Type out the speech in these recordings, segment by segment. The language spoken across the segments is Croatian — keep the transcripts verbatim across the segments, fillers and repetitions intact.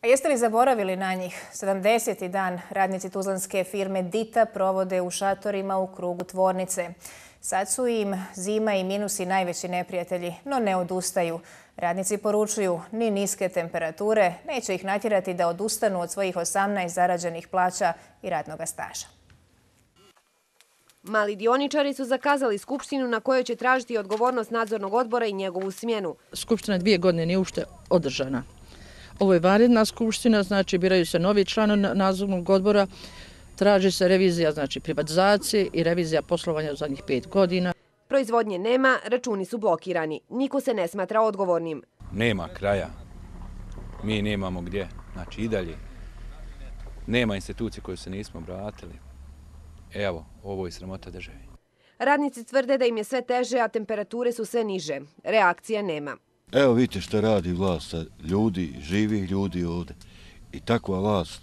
A jeste li zaboravili na njih? sedamdeseti dan radnici tuzlanske firme Dita provode u šatorima u krugu tvornice. Sad su im zima i minusi najveći neprijatelji, no ne odustaju. Radnici poručuju, ni niske temperature neće ih natjerati da odustanu od svojih osamnaest zarađenih plaća i radnog staža. Mali dioničari su zakazali skupštinu na kojoj će tražiti odgovornost nadzornog odbora i njegovu smjenu. Skupština dvije godine nije uopšte održana. Ovo je vanredna skupština, znači biraju se novi članovi nadzornog odbora, traži se revizija znači privatizacije i revizija poslovanja u zadnjih pet godina. Proizvodnje nema, računi su blokirani. Niko se ne smatra odgovornim. Nema kraja. Mi nemamo gdje. Znači i dalje. Nema institucije koje se nismo obratili. Evo, ovo je sramota države. Radnici tvrde da im je sve teže, a temperature su sve niže. Reakcija nema. Evo vidite što radi vlast, ljudi, živih ljudi ovdje. I takva vlast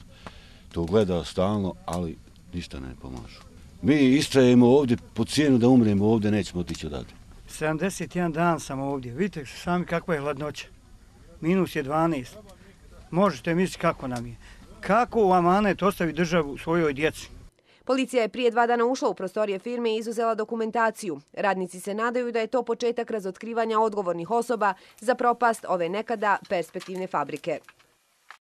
to gleda stalno, ali ništa ne pomažu. Mi istrajemo ovdje po cijenu da umremo ovdje, nećemo otići odavde. sedamdeset jedan dan sam ovdje. Vidite sami kakva je hladnoća. Minus je dvanaest. Možete misliti kako nam je. Kako u amanet ostavi državu svojoj djeci? Policija je prije dva dana ušla u prostorije firme i izuzela dokumentaciju. Radnici se nadaju da je to početak razotkrivanja odgovornih osoba za propast ove nekada perspektivne fabrike.